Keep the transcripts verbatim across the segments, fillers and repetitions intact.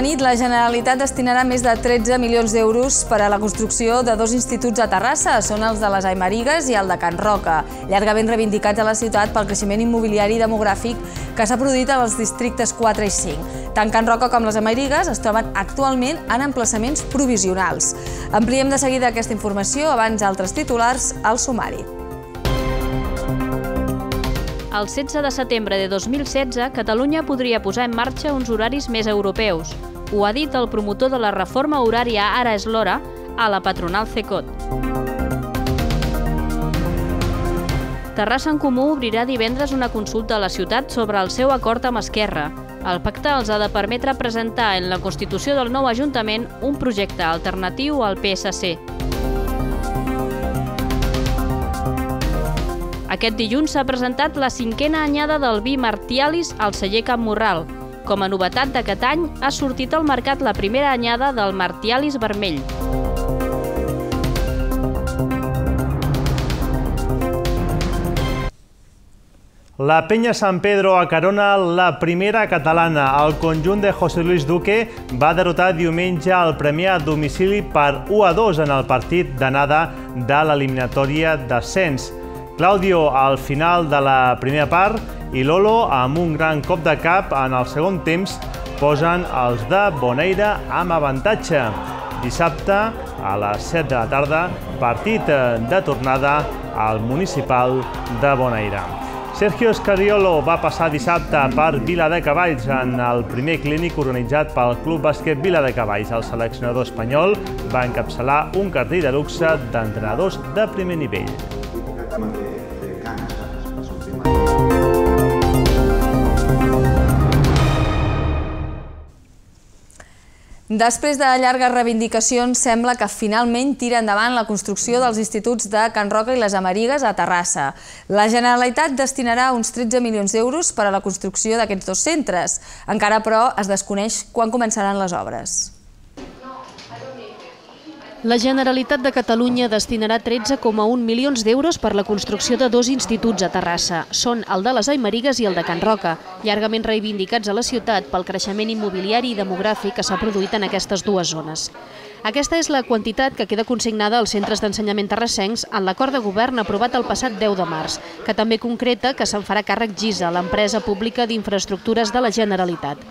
la nit, la Generalitat destinarà més de tretze milions d'euros per a la construcció de dos instituts a Terrassa. Són els de les Aymarigues i el de Can Roca, llargament reivindicats a la ciutat pel creixement immobiliari i demogràfic que s'ha produït als districtes quatre i cinc. Tant Can Roca com les Aymarigues es troben actualment en emplaçaments provisionals. Ampliem de seguida aquesta informació, abans altres titulars al sumari. El setze de setembre de dos mil setze, Catalunya podria posar en marxa uns horaris més europeus. Ho ha dit el promotor de la reforma horària Ara és l'hora a la patronal Cecot. Terrassa en Comú obrirà divendres una consulta a la ciutat sobre el seu acord amb Esquerra. El pacte els ha de permetre presentar en la constitució del nou Ajuntament un projecte alternatiu al P S C. Aquest dilluns s'ha presentat la cinquena anyada del vi Martialis al celler Can Morral. Com a novetat d'aquest any, ha sortit al mercat la primera anyada del Martialis vermell. La Penya San Pedro acarona la primera catalana. El conjunt de José Luis Duque va derrotar diumenge el Premià a domicili per u a dos en el partit d'anada de l'eliminatòria d'ascens. Claudio al final de la primera part i Lolo, amb un gran cop de cap en el segon temps, posen els de Boneira amb avantatge. Dissabte, a les set de la tarda, partit de tornada al municipal de Boneira. Sergio Scariolo va passar dissabte per Viladecavalls en el primer clínic organitzat pel Club Bàsquet Viladecavalls. El seleccionador espanyol va encapçalar un cartell de luxe d'entrenadors de primer nivell. Després de llargues reivindicacions, sembla que finalment tira endavant la construcció dels instituts de Can Roca i les Aymarigues a Terrassa. La Generalitat destinarà uns tretze milions d'euros per a la construcció d'aquests dos centres. Encara, però, es desconeix quan començaran les obres. La Generalitat de Catalunya destinarà tretze coma un milions d'euros per la construcció de dos instituts a Terrassa. Són el de les Aymarigues i el de Can Roca, llargament reivindicats a la ciutat pel creixement immobiliari i demogràfic que s'ha produït en aquestes dues zones. Aquesta és la quantitat que queda consignada als centres d'ensenyament terrassencs en l'acord de govern aprovat el passat deu de març, que també concreta que se'n farà càrrec GISA, l'empresa pública d'infraestructures de la Generalitat.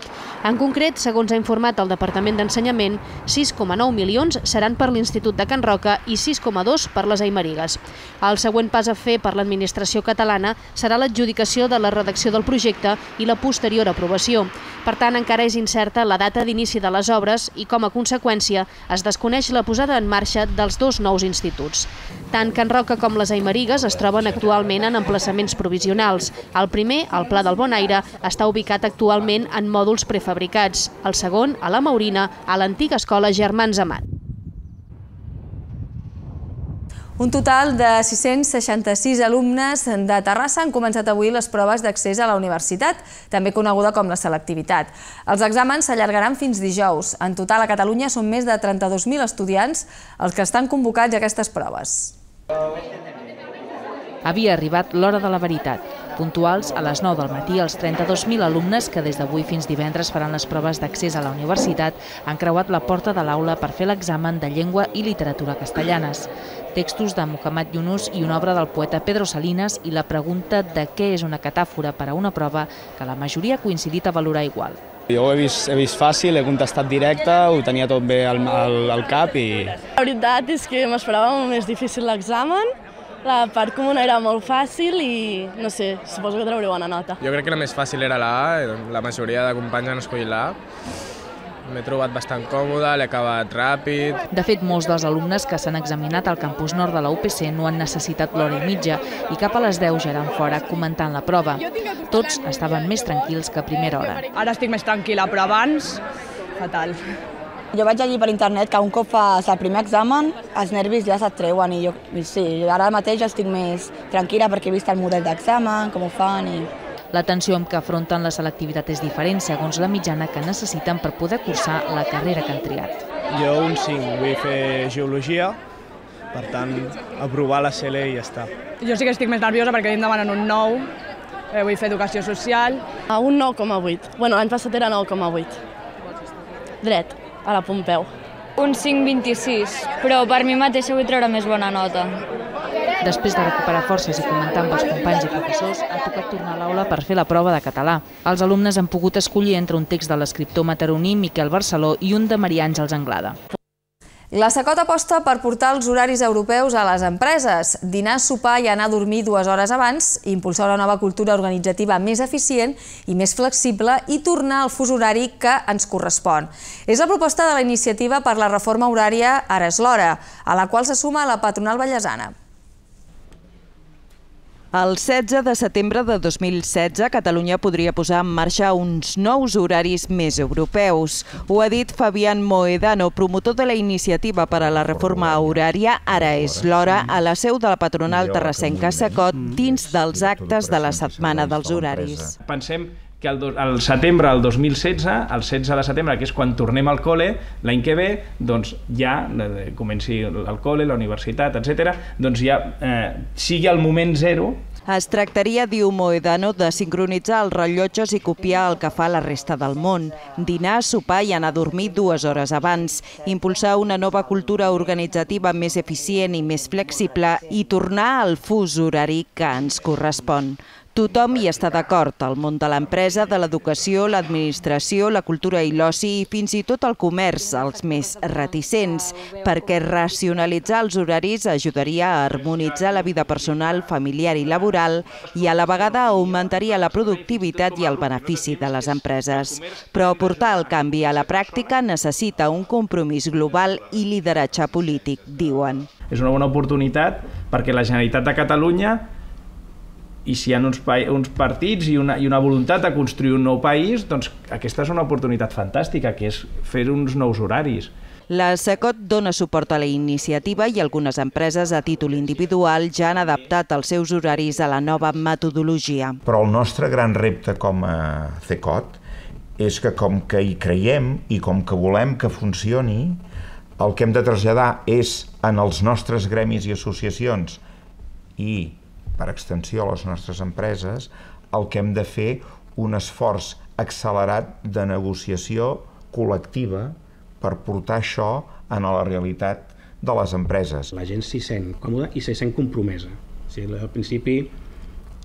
En concret, segons ha informat el Departament d'Ensenyament, sis coma nou milions seran per l'Institut de Can Roca i sis coma dos per les Aymarigues. El següent pas a fer per l'administració catalana serà l'adjudicació de la redacció del projecte i la posterior aprovació. Per tant, encara és incerta la data d'inici de les obres i, com a conseqüència, es desconeix la posada en marxa dels dos nous instituts. Tant Can Roca com les Aymarigues es troben actualment en emplaçaments provisionals. El primer, el Pla del Bonaire, està ubicat actualment en mòduls prefabricats. El segon, a la Maurina, a l'antiga escola Germans Amat. Un total de sis-cents seixanta-sis alumnes de Terrassa han començat avui les proves d'accés a la universitat, també coneguda com la selectivitat. Els exàmens s'allargaran fins dijous. En total a Catalunya són més de trenta-dos mil estudiants els que estan convocats a aquestes proves. Havia arribat l'hora de la veritat. Puntuals, a les nou del matí, els trenta-dos mil alumnes que des d'avui fins divendres faran les proves d'accés a la universitat han creuat la porta de l'aula per fer l'examen de llengua i literatura castellanes. Textos de Muhammad Yunus i una obra del poeta Pedro Salinas i la pregunta de què és una catàfora per a una prova que la majoria ha coincidit a valorar igual. Jo ho he vist, he vist fàcil, he contestat directe, ho tenia tot bé al, al, al cap i... La veritat és que m'esperava molt més difícil l'examen. La part comuna era molt fàcil i, no sé, suposo que trauré bona nota. Jo crec que la més fàcil era la A, la majoria de companys han escollit la A. M'he trobat bastant còmode, l'he acabat ràpid. De fet, molts dels alumnes que s'han examinat al campus nord de la U P C no han necessitat l'hora i mitja i cap a les deu ja eren fora comentant la prova. Tots estaven més tranquils que a primera hora. Ara estic més tranquil·la, però abans, fatal. Jo vaig llegir per internet que un cop fas el primer examen, els nervis ja se't treuen i jo, sí, ara mateix estic més tranquil·la perquè he vist el model d'examen, com ho fan i... La tensió amb què afronten la selectivitat és diferent segons la mitjana que necessiten per poder cursar la carrera que han triat. Jo un cinc, vull fer geologia, per tant, aprovar la C L i ja està. Jo sí que estic més nerviosa perquè em demanen un nou, vull fer educació social. Un nou coma vuit. Bueno, l'any passat era nou coma vuit. Dret, a la Pompeu. Un cinc coma vint-i-sis, però per mi mateixa vull treure més bona nota. Després de recuperar forces i comentar amb els companys i professors, ha tocat tornar a l'aula per fer la prova de català. Els alumnes han pogut escollir entre un text de l'escriptor mataroní Miquel Barceló i un de Maria Àngels Anglada. La Secot aposta per portar els horaris europeus a les empreses, dinar, sopar i anar a dormir dues hores abans, impulsar una nova cultura organitzativa més eficient i més flexible i tornar al fus horari que ens correspon. És la proposta de la iniciativa per la reforma horària Ara és l'hora, a la qual se suma la patronal vallesana. El setze de setembre de dos mil setze, Catalunya podria posar en marxa uns nous horaris més europeus. Ho ha dit Fabián Mohedano, promotor de la iniciativa per a la reforma horària Ara és l'hora, a la seu de la patronal terrassenca Secot, dins dels actes de la Setmana dels Horaris. Pensem que al setembre del dos mil setze, el setze de setembre, que és quan tornem al col·le, l'any que ve, doncs ja comenci el col·le, la universitat, etcètera, doncs ja sigui el moment zero. Es tractaria, diu Mohedano, de sincronitzar els rellotges i copiar el que fa la resta del món. Dinar, sopar i anar a dormir dues hores abans. Impulsar una nova cultura organitzativa més eficient i més flexible i tornar al fus horari que ens correspon. Tothom hi està d'acord, el món de l'empresa, de l'educació, l'administració, la cultura i l'oci i fins i tot el comerç, els més reticents, perquè racionalitzar els horaris ajudaria a harmonitzar la vida personal, familiar i laboral i a la vegada augmentaria la productivitat i el benefici de les empreses. Però portar el canvi a la pràctica necessita un compromís global i lideratge polític, diuen. És una bona oportunitat perquè la Generalitat de Catalunya, i si hi ha uns, uns partits i una, i una voluntat de construir un nou país, doncs aquesta és una oportunitat fantàstica, que és fer uns nous horaris. La Secot dona suport a la iniciativa i algunes empreses a títol individual ja han adaptat els seus horaris a la nova metodologia. Però el nostre gran repte com a Secot és que com que hi creiem i com que volem que funcioni, el que hem de traslladar és en els nostres gremis i associacions i per extensió a les nostres empreses, el que hem de fer un esforç accelerat de negociació col·lectiva per portar això a la realitat de les empreses. La gent s'hi sent còmoda i s'hi sent compromesa. O sigui, al principi,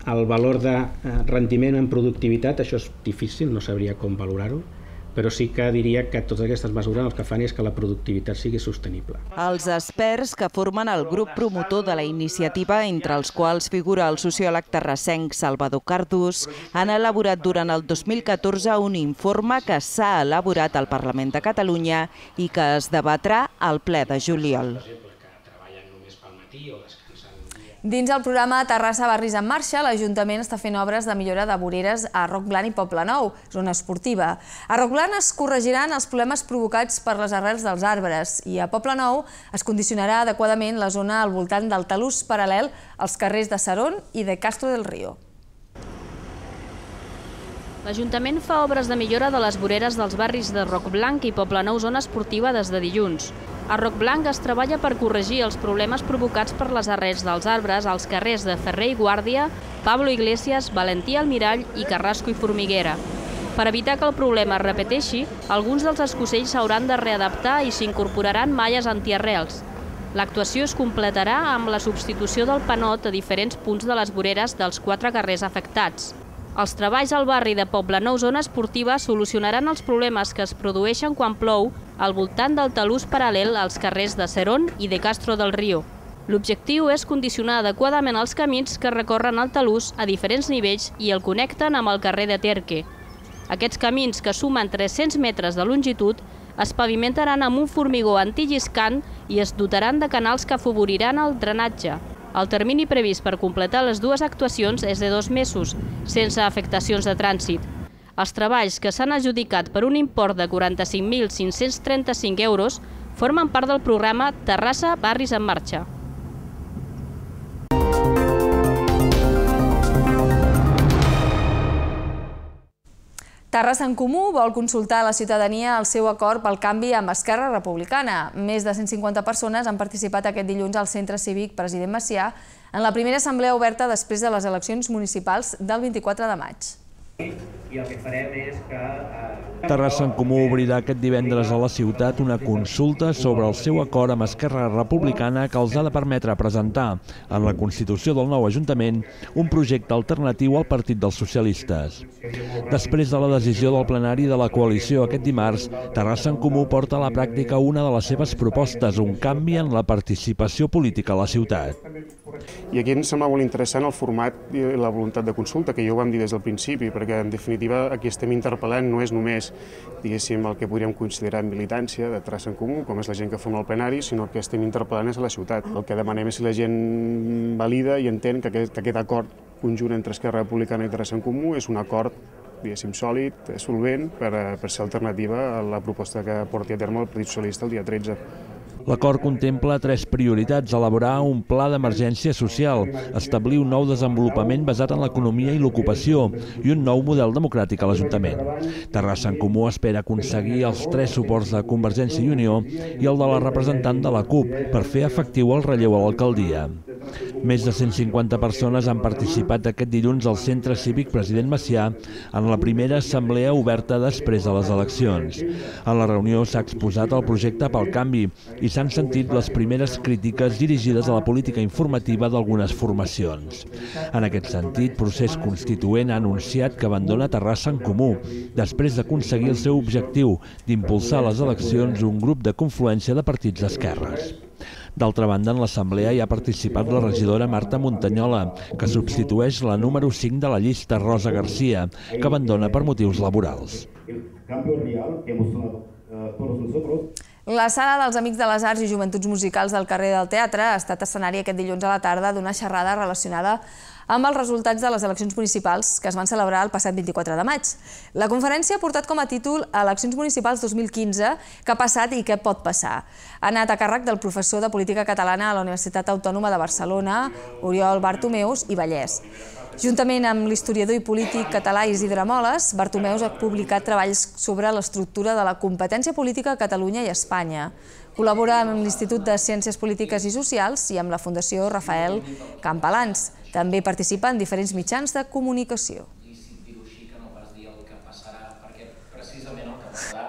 el valor de rendiment en productivitat, això és difícil, no sabria com valorar-ho, però sí que diria que totes aquestes mesures el que fan és que la productivitat sigui sostenible. Els experts que formen el grup promotor de la iniciativa, entre els quals figura el sociòleg terrassenc Salvador Cardús, han elaborat durant el dos mil catorze un informe que s'ha elaborat al Parlament de Catalunya i que es debatrà al ple de juliol. Dins el programa Terrassa Barris en Marxa, l'Ajuntament està fent obres de millora de voreres a Roc Blanc i Poblenou, zona esportiva. A Roc Blanc es corregiran els problemes provocats per les arrels dels arbres i a Poblenou es condicionarà adequadament la zona al voltant del talús paral·lel als carrers de Serón i de Castro del Río. L'Ajuntament fa obres de millora de les voreres dels barris de Roc Blanc i Poblenou, zona esportiva, des de dilluns. A Roc Blanc es treballa per corregir els problemes provocats per les arrels dels arbres als carrers de Ferrer i Guàrdia, Pablo Iglesias, Valentí Almirall i Carrasco i Formiguera. Per evitar que el problema es repeteixi, alguns dels escocells s'hauran de readaptar i s'incorporaran malles antiarrels. L'actuació es completarà amb la substitució del panot a diferents punts de les voreres dels quatre carrers afectats. Els treballs al barri de Poblenou, zona esportiva, solucionaran els problemes que es produeixen quan plou al voltant del talús paral·lel als carrers de Serón i de Castro del Río. L'objectiu és condicionar adequadament els camins que recorren el talús a diferents nivells i el connecten amb el carrer de Terque. Aquests camins, que sumen tres-cents metres de longitud, es pavimentaran amb un formigó antilliscant i es dotaran de canals que afavoriran el drenatge. El termini previst per completar les dues actuacions és de dos mesos, sense afectacions de trànsit. Els treballs, que s'han adjudicat per un import de quaranta-cinc mil cinc-cents trenta-cinc euros, formen part del programa Terrassa Barris en Marxa. Terrassa en Comú vol consultar a la ciutadania el seu acord pel canvi amb Esquerra Republicana. Més de cent cinquanta persones han participat aquest dilluns al Centre Cívic President Macià en la primera assemblea oberta després de les eleccions municipals del vint-i-quatre de maig. I el que farem és que... Terrassa en Comú obrirà aquest divendres a la ciutat una consulta sobre el seu acord amb Esquerra Republicana que els ha de permetre presentar en la Constitució del nou Ajuntament un projecte alternatiu al Partit dels Socialistes. Després de la decisió del plenari de la coalició aquest dimarts, Terrassa en Comú porta a la pràctica una de les seves propostes, un canvi en la participació política a la ciutat. I aquí ens sembla molt interessant el format i la voluntat de consulta, que ja ho vam dir des del principi, perquè en definitiva aquí estem interpel·lant no és només diguéssim el que podríem considerar militància de Terrassa en Comú, com és la gent que forma el plenari, sinó que estem interpel·lant és a la ciutat. El que demanem és si la gent valida i entén que aquest, que aquest acord conjunt entre Esquerra Republicana i Terrassa en Comú és un acord diguéssim sòlid, solvent, per, per ser alternativa a la proposta que porti a terme el Partit Socialista el dia tretze. L'acord contempla tres prioritats: elaborar un pla d'emergència social, establir un nou desenvolupament basat en l'economia i l'ocupació i un nou model democràtic a l'Ajuntament. Terrassa en Comú espera aconseguir els tres suports de Convergència i Unió i el de la representant de la CUP per fer efectiu el relleu a l'alcaldia. Més de cent cinquanta persones han participat aquest dilluns al Centre Cívic President Macià en la primera assemblea oberta després de les eleccions. En la reunió s'ha exposat el projecte pel canvi i s'han sentit les primeres crítiques dirigides a la política informativa d'algunes formacions. En aquest sentit, Procés Constituent ha anunciat que abandona Terrassa en Comú, després d'aconseguir el seu objectiu d'impulsar les eleccions un grup de confluència de partits d'esquerres. D'altra banda, en l'assemblea hi ha participat la regidora Marta Montanyola, que substitueix la número cinc de la llista, Rosa Garcia, que abandona per motius laborals. La Sala dels Amics de les Arts i Joventuts Musicals del carrer del Teatre ha estat escenari aquest dilluns a la tarda d'una xerrada relacionada amb els resultats de les eleccions municipals que es van celebrar el passat vint-i-quatre de maig. La conferència ha portat com a títol Eleccions municipals dos mil quinze, què ha passat i què pot passar. Ha anat a càrrec del professor de Política Catalana a la Universitat Autònoma de Barcelona, Oriol Bartomeus i Vallès. Juntament amb l'historiador i polític català Isidre Moles, Bartomeus ha publicat treballs sobre l'estructura de la competència política a Catalunya i Espanya. Col·labora amb l'Institut de Ciències Polítiques i Socials i amb la Fundació Rafael Campalans. També participa en diferents mitjans de comunicació. Precisament el que passarà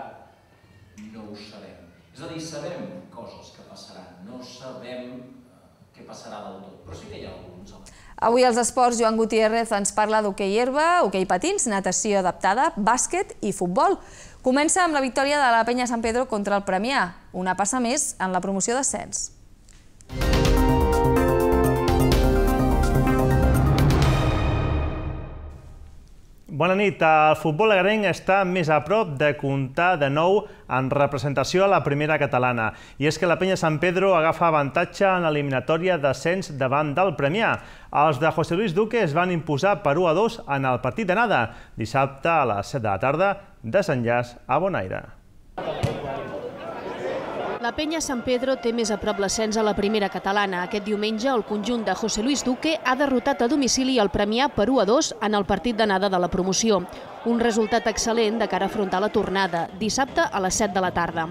no ho sabem. És a dir, sabem coses que passaran, no sabem què passarà del tot, però sí que hi ha alguns elements. Avui als esports, Joan Gutiérrez ens parla d'hoquei herba, hoquei patins, natació adaptada, bàsquet i futbol. Comença amb la victòria de la Penya Sant Pedro contra el Premià, una passa més en la promoció d'ascens. Bona nit. El futbol agarenc està més a prop de comptar de nou en representació a la primera catalana. I és que la Penya Sant Pedro agafa avantatge en l'eliminatòria d'ascens davant del Premià. Els de José Luis Duque es van imposar per u a dos en el partit d'anada, dissabte a les set de la tarda, desenllaç a Bonaire. La Penya Sant Pedro té més a prop l'ascens a la primera catalana. Aquest diumenge, el conjunt de José Luis Duque ha derrotat a domicili el Premià per u a dos en el partit d'anada de la promoció. Un resultat excel·lent de cara a afrontar la tornada, dissabte a les set de la tarda.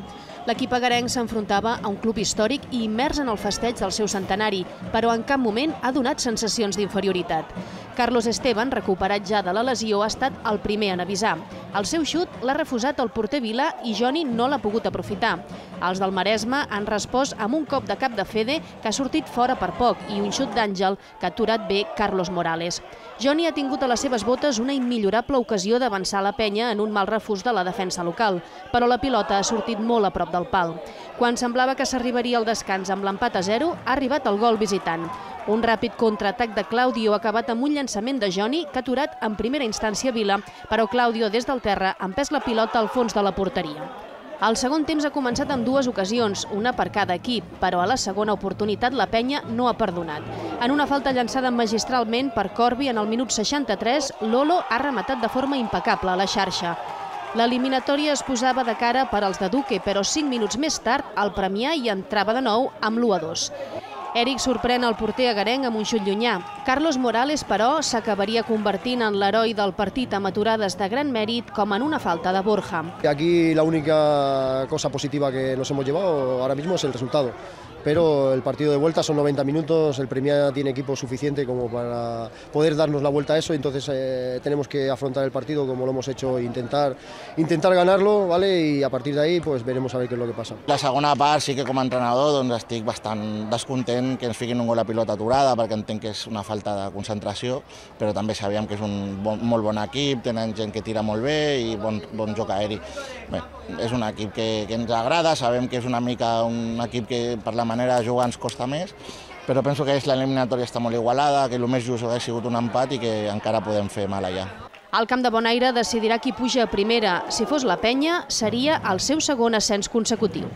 L'equip agarenc s'enfrontava a un club històric i immers en el festeig del seu centenari, però en cap moment ha donat sensacions d'inferioritat. Carlos Esteban, recuperat ja de la lesió, ha estat el primer en avisar. El seu xut l'ha refusat el porter Vila i Joni no l'ha pogut aprofitar. Els del Maresme han respost amb un cop de cap de Fede que ha sortit fora per poc i un xut d'Àngel que ha aturat bé Carlos Morales. Joni ha tingut a les seves botes una immillorable ocasió d'avançar la Penya en un mal refús de la defensa local, però la pilota ha sortit molt a prop del pal. Quan semblava que s'arribaria al descans amb l'empat a zero, ha arribat el gol visitant. Un ràpid contraatac de Claudio ha acabat amb un llançament de Joni que ha aturat en primera instància Vila, però Claudio des del terra ha empès la pilota al fons de la porteria. El segon temps ha començat amb dues ocasions, una per cada equip, però a la segona oportunitat la Penya no ha perdonat. En una falta llançada magistralment per Corbi en el minut seixanta-tres, Lolo ha rematat de forma impecable a la xarxa. L'eliminatòria es posava de cara per als de Duque, però cinc minuts més tard el Premià hi entrava de nou amb l'u a dos. Eric sorprèn el porter agarenc amb un xut llunyà. Carlos Morales, però, s'acabaria convertint en l'heroi del partit amb aturades de gran mèrit, com en una falta de Borja. Aquí la única cosa positiva que nos hemos llevado ahora mismo es el resultado. pero el partido de vuelta son noventa minutos, el Premià tiene equipo suficiente como para poder darnos la vuelta a eso, entonces eh, tenemos que afrontar el partido como lo hemos hecho, intentar, intentar ganarlo, ¿vale? Y a partir de ahí pues veremos a ver qué es lo que pasa. La segona part sí que com a entrenador doncs, estic bastant descontent que ens fiquin un gol a pilota aturada perquè entenc que és una falta de concentració, però també sabíem que és un bon, molt bon equip, tenen gent que tira molt bé i bon, bon joc aeri. Bé, és un equip que, que ens agrada, sabem que és una mica un equip que per la manera de jugar ens costa més, però penso que l'eliminatòria està molt igualada, que el més just hauria sigut un empat i que encara podem fer mal allà. El Camp de Bonaire decidirà qui puja a primera. Si fos la Penya, seria el seu segon ascens consecutiu.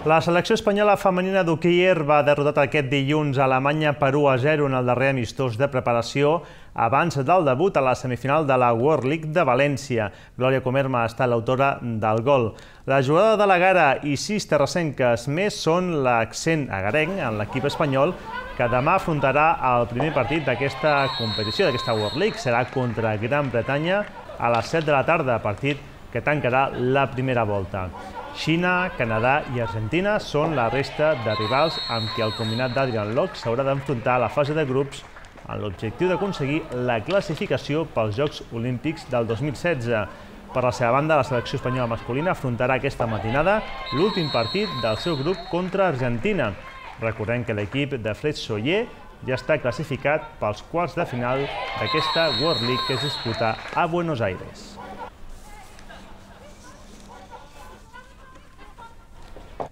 La selecció espanyola femenina d'hoquei va derrotar aquest dilluns a Alemanya per u a zero en el darrer amistós de preparació abans del debut a la semifinal de la World League de València. Glòria Comerma ha estat l'autora del gol. La jugadora de la Gara i sis terrassenques més són l'accent agarenc en l'equip espanyol que demà afrontarà el primer partit d'aquesta competició, d'aquesta World League. Serà contra Gran Bretanya a les set de la tarda, partit que tancarà la primera volta. Xina, Canadà i Argentina són la resta de rivals amb qui el combinat d'Adrian Locke s'haurà d'enfrontar a la fase de grups amb l'objectiu d'aconseguir la classificació pels Jocs Olímpics del dos mil setze. Per la seva banda, la selecció espanyola masculina afrontarà aquesta matinada l'últim partit del seu grup contra Argentina. Recordem que l'equip de Fred Soller ja està classificat pels quarts de final d'aquesta World League que es disputa a Buenos Aires.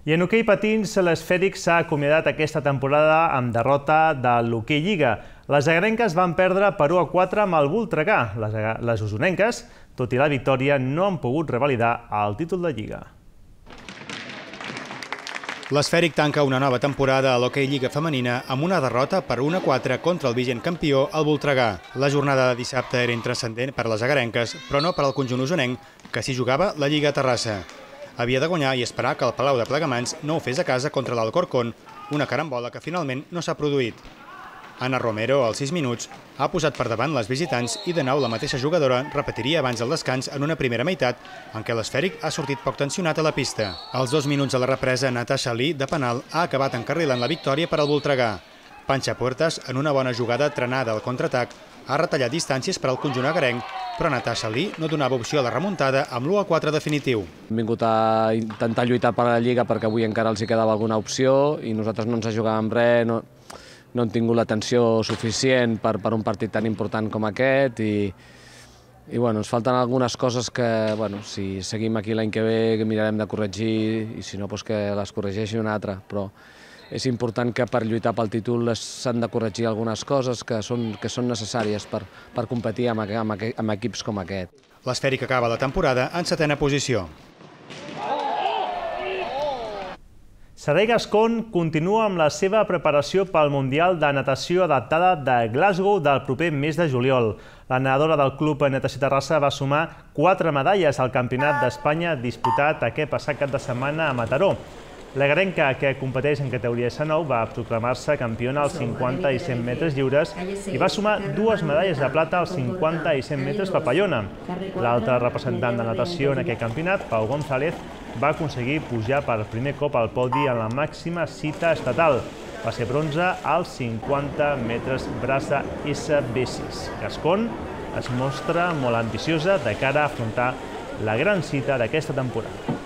I en hoquei patins, l'Esfèric s'ha acomiadat aquesta temporada amb derrota de l'Hoquei Lliga. Les agarenques van perdre per u a quatre amb el Voltregà. Les usonenques, tot i la victòria, no han pogut revalidar el títol de Lliga. L'Esfèric tanca una nova temporada a l'Hoquei Lliga femenina amb una derrota per un a quatre contra el vigent campió, el Voltregà. La jornada de dissabte era intranscendent per a les agarenques, però no per al conjunt usonenc, que s'hi jugava la Lliga a Terrassa. Havia de guanyar i esperar que el Palau de Plegamans no ho fes a casa contra l'Alcorcón, una carambola que finalment no s'ha produït. Anna Romero, als sis minuts, ha posat per davant les visitants i de nou la mateixa jugadora repetiria abans del descans en una primera meitat en què l'Esfèric ha sortit poc tensionat a la pista. Als dos minuts de la represa, Natasha Lee, de penal, ha acabat encarrilant la victòria per al Voltregà. Panxa Puertas, en una bona jugada trenada al contraatac, ha retallat distàncies per al conjunt agarenc, però Natasha Lee no donava opció a la remuntada amb l'u a quatre definitiu. Hem vingut a intentar lluitar per la Lliga perquè avui encara els hi quedava alguna opció i nosaltres no ens jugàvem res, no, no hem tingut l'atenció suficient per, per un partit tan important com aquest i, i bueno, ens falten algunes coses que, bueno, si seguim aquí l'any que ve que mirarem de corregir i si no, doncs que les corregeixi un altre, però és important que per lluitar pel títol s'han de corregir algunes coses que són, que són necessàries per, per competir amb, amb, amb equips com aquest. L'Esfèric acaba la temporada en setena posició. Servei Gascon continua amb la seva preparació pel Mundial de Natació Adaptada de Glasgow del proper mes de juliol. La nedadora del Club Natació Terrassa va sumar quatre medalles al Campionat d'Espanya disputat aquest passat cap de setmana a Mataró. La garenca, que competeix en categoria S nou, va proclamar-se campiona als cinquanta i cent metres lliures i va sumar dues medalles de plata als cinquanta i cent metres papallona. L'altre representant de natació en aquest campionat, Pau González, va aconseguir pujar per primer cop al podi en la màxima cita estatal. Va ser bronze als cinquanta metres braça S B sis. Gascon es mostra molt ambiciosa de cara a afrontar la gran cita d'aquesta temporada.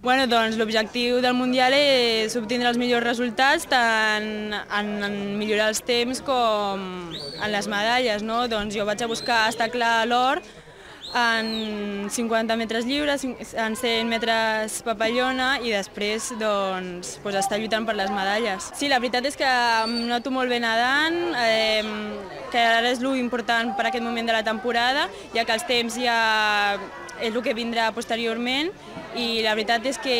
Bueno, doncs l'objectiu del Mundial és obtindre els millors resultats tant en, en millorar els temps com en les medalles, no? Doncs jo vaig a buscar estar clar l'or en cinquanta metres lliures, en cent metres papallona i després doncs, doncs estar lluitant per les medalles. Sí, la veritat és que em noto molt bé nedant, eh, que ara és l'important per aquest moment de la temporada, ja que els temps ja és el que vindrà posteriorment i la veritat és que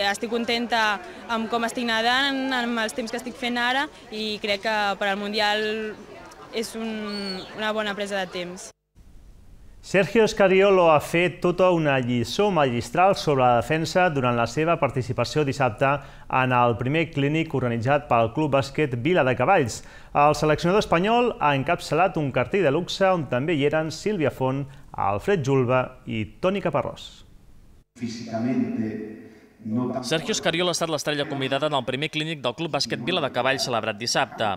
estic contenta amb com estic nedant, amb els temps que estic fent ara i crec que per al Mundial és un, una bona presa de temps. Sergio Scariolo ha fet tota una lliçó magistral sobre la defensa durant la seva participació dissabte en el primer clínic organitzat pel Club Bàsquet Vila de Cavalls. El seleccionador espanyol ha encapçalat un cartell de luxe on també hi eren Sílvia Font, Alfred Julba i Toni Caparrós. Sergio Escariolo ha estat l'estrella convidada en el primer clínic del Club Bàsquet Vila de Cavalls celebrat dissabte.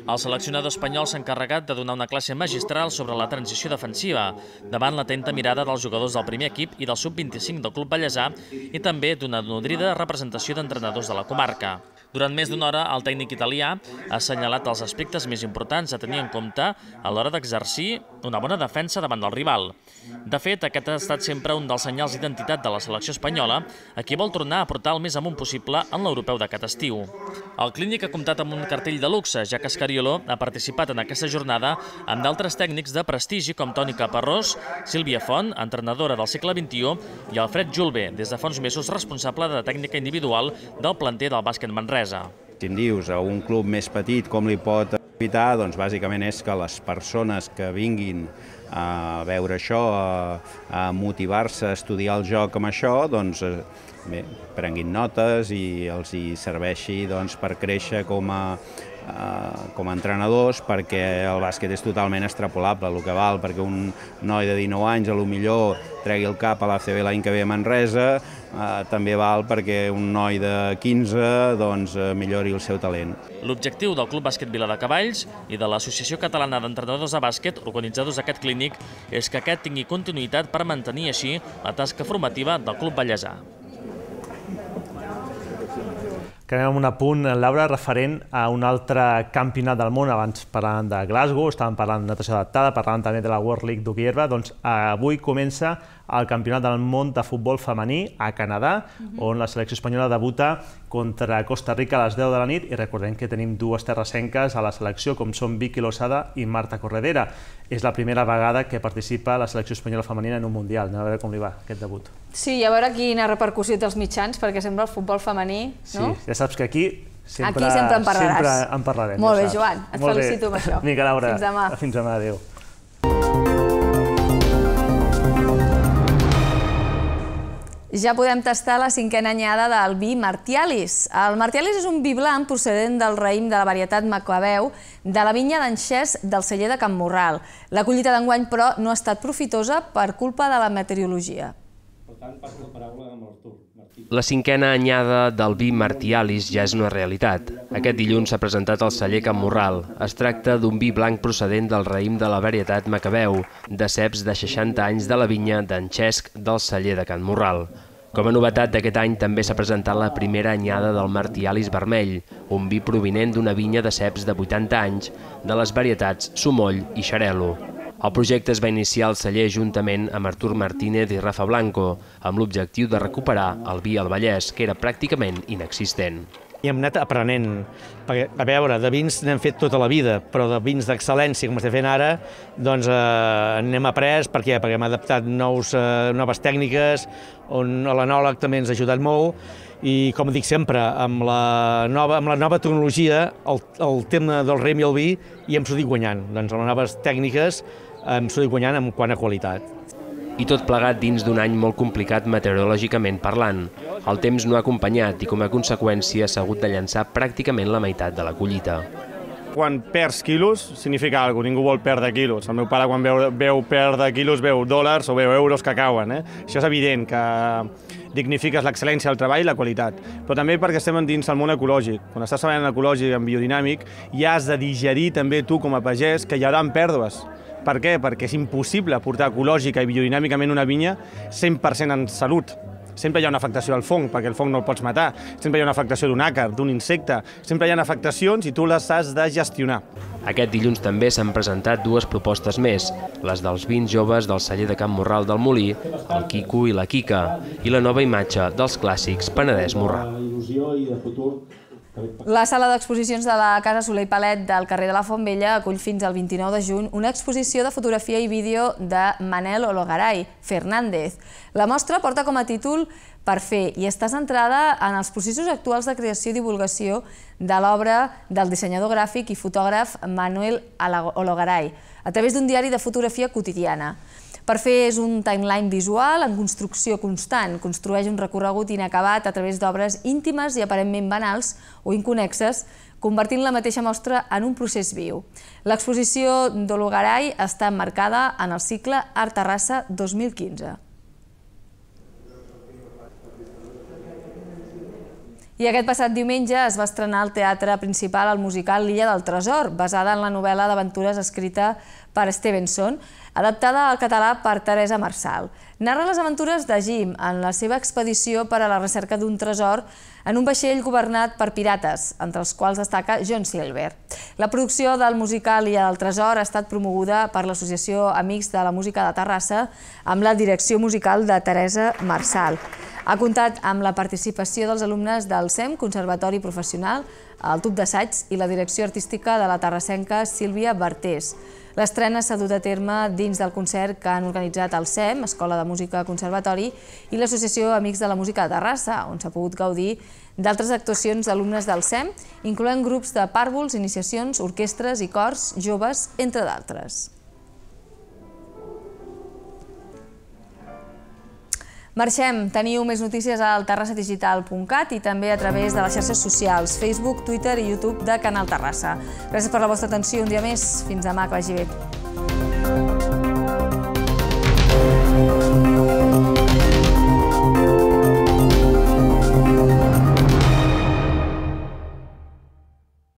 El seleccionador espanyol s'ha encarregat de donar una classe magistral sobre la transició defensiva, davant l'atenta mirada dels jugadors del primer equip i del sub vint-i-cinc del Club Vallèsà i també d'una nodrida representació d'entrenadors de la comarca. Durant més d'una hora, el tècnic italià ha assenyalat els aspectes més importants a tenir en compte a l'hora d'exercir una bona defensa davant del rival. De fet, aquest ha estat sempre un dels senyals d'identitat de la selecció espanyola, a qui vol tornar a portar el més amunt possible en l'europeu d'aquest estiu. El clínic ha comptat amb un cartell de luxe, ja que Escariolo ha participat en aquesta jornada amb d'altres tècnics de prestigi com Toni Caparrós, Sílvia Font, entrenadora del segle vint-i-u, i Alfred Julbe, des de fa uns mesos responsable de tècnica individual del planter del bàsquet Manresa. Si em dius a un club més petit com li pot evitar, doncs bàsicament és que les persones que vinguin a veure això, a, a motivar-se a estudiar el joc amb això, doncs bé, prenguin notes i els hi serveixi doncs, per créixer com a, a, com a entrenadors, perquè el bàsquet és totalment extrapolable, el que val perquè un noi de dinou anys a lo millor tregui el cap a l'A C B l'any que ve a Manresa, eh, també val perquè un noi de quinze doncs, millori el seu talent. L'objectiu del Club Bàsquet Vila de Cavalls i de l'Associació Catalana d'Entrenadors de Bàsquet, organitzadors d'aquest clínic, és que aquest tingui continuïtat per mantenir així la tasca formativa del Club Vallèsà. Acabem amb un apunt, Laura, referent a un altre campionat del món. Abans parlàvem de Glasgow, estàvem parlant de natació adaptada, parlàvem també de la World League d'hoquei herba. Doncs avui comença el Campionat del món de futbol femení a Canadà, on la selecció espanyola debuta contra Costa Rica a les deu de la nit, i recordem que tenim dues terrassenques a la selecció, com són Vicky Losada i Marta Corredera. És la primera vegada que participa la selecció espanyola femenina en un mundial. Anem a veure com li va aquest debut. Sí, i a veure quina repercussió té els mitjans, perquè sembla el futbol femení, no? Sí, ja saps que aquí sempre, aquí sempre en parlaràs. Sempre en parlarem. Molt ja bé, Joan, et Molt felicito bé. amb això. Vinga, Laura. Fins demà. Fins demà, adéu. Ja podem tastar la cinquena anyada del vi Martialis. El Martialis és un vi blanc procedent del raïm de la varietat Macabeu de la vinya d'en Xés del celler de Can Morral. La collita d'enguany, però, no ha estat profitosa per culpa de la meteorologia. La cinquena anyada del vi Martialis ja és una realitat. Aquest dilluns s'ha presentat al celler Can Morral. Es tracta d'un vi blanc procedent del raïm de la varietat Macabeu, de ceps de seixanta anys de la vinya d'en Xesc del celler de Can Morral. Com a novetat d'aquest any també s'ha presentat la primera anyada del Martialis vermell, un vi provinent d'una vinya de ceps de vuitanta anys de les varietats Somoll i Xarel·lo. El projecte es va iniciar al celler juntament amb Artur Martínez i Rafa Blanco, amb l'objectiu de recuperar el vi al Vallès, que era pràcticament inexistent. I hem anat aprenent, perquè, a veure, de vins n'hem fet tota la vida, però de vins d'excel·lència, com estem fent ara, doncs eh, n'hem après, per què? Perquè hem adaptat nous, eh, noves tècniques, on l'enòleg també ens ha ajudat molt, i com dic sempre, amb la nova, amb la nova tecnologia, el, el tema del raïm i el vi, hi hem sortit guanyant. Doncs amb les noves tècniques hem sortit guanyant en quant a qualitat. I tot plegat dins d'un any molt complicat meteorològicament parlant. El temps no ha acompanyat i com a conseqüència s'ha hagut de llançar pràcticament la meitat de la collita. Quan perds quilos significa alguna cosa, ningú vol perdre quilos. El meu pare quan veu, veu perdre quilos veu dòlars o veu euros que cauen. Eh? Això és evident, que dignifiques l'excel·lència del treball i la qualitat. Però també perquè estem dins el món ecològic. Quan estàs treballant en ecològic, en biodinàmic, ja has de digerir també tu com a pagès que hi haurà pèrdues. Per què? Perquè és impossible portar ecològica i biodinàmicament una vinya cent per cent en salut. Sempre hi ha una afectació al fong, perquè el fong no el pots matar. Sempre hi ha una afectació d'un àcar, d'un insecte. Sempre hi ha afectacions i tu les has de gestionar. Aquest dilluns també s'han presentat dues propostes més, les dels vins joves del celler de Can Morral del Molí, el Quico i la Quica, i la nova imatge dels clàssics Penedès Morral. La sala d'exposicions de la Casa Soler i Palet del carrer de la Font Vella acull fins al vint-i-nou de juny una exposició de fotografia i vídeo de Manel Ologaray Fernández. La mostra porta com a títol Per fer i està centrada en els processos actuals de creació i divulgació de l'obra del dissenyador gràfic i fotògraf Manuel Ologaray a través d'un diari de fotografia quotidiana. Per fer és un timeline visual en construcció constant, construeix un recorregut inacabat a través d'obres íntimes i aparentment banals o inconnexes, convertint la mateixa mostra en un procés viu. L'exposició d'Ologaray està emmarcada en el cicle Art Terrassa dos mil quinze. I aquest passat diumenge es va estrenar al teatre principal el musical L'Illa del Tresor, basada en la novel·la d'aventures escrita per Stevenson, adaptada al català per Teresa Marçal. Narra les aventures de Jim en la seva expedició per a la recerca d'un tresor en un vaixell governat per pirates, entre els quals destaca John Silver. La producció del musical L'Illa del Tresor ha estat promoguda per l'Associació Amics de la Música de Terrassa amb la direcció musical de Teresa Marçal. Ha comptat amb la participació dels alumnes del S E M, Conservatori Professional, el Tub d'Assaigs i la direcció artística de la terrassenca Sílvia Bertés. L'estrena s'ha dut a terme dins del concert que han organitzat el S E M, Escola de Música Conservatori, i l'Associació Amics de la Música de Terrassa, on s'ha pogut gaudir d'altres actuacions d'alumnes del S E M, incloent grups de pàrvuls, iniciacions, orquestres i cors joves, entre d'altres. Marxem, teniu més notícies al terrassa digital punt cat i també a través de les xarxes socials, Facebook, Twitter i YouTube de Canal Terrassa. Gràcies per la vostra atenció un dia més. Fins demà, que vagi bé.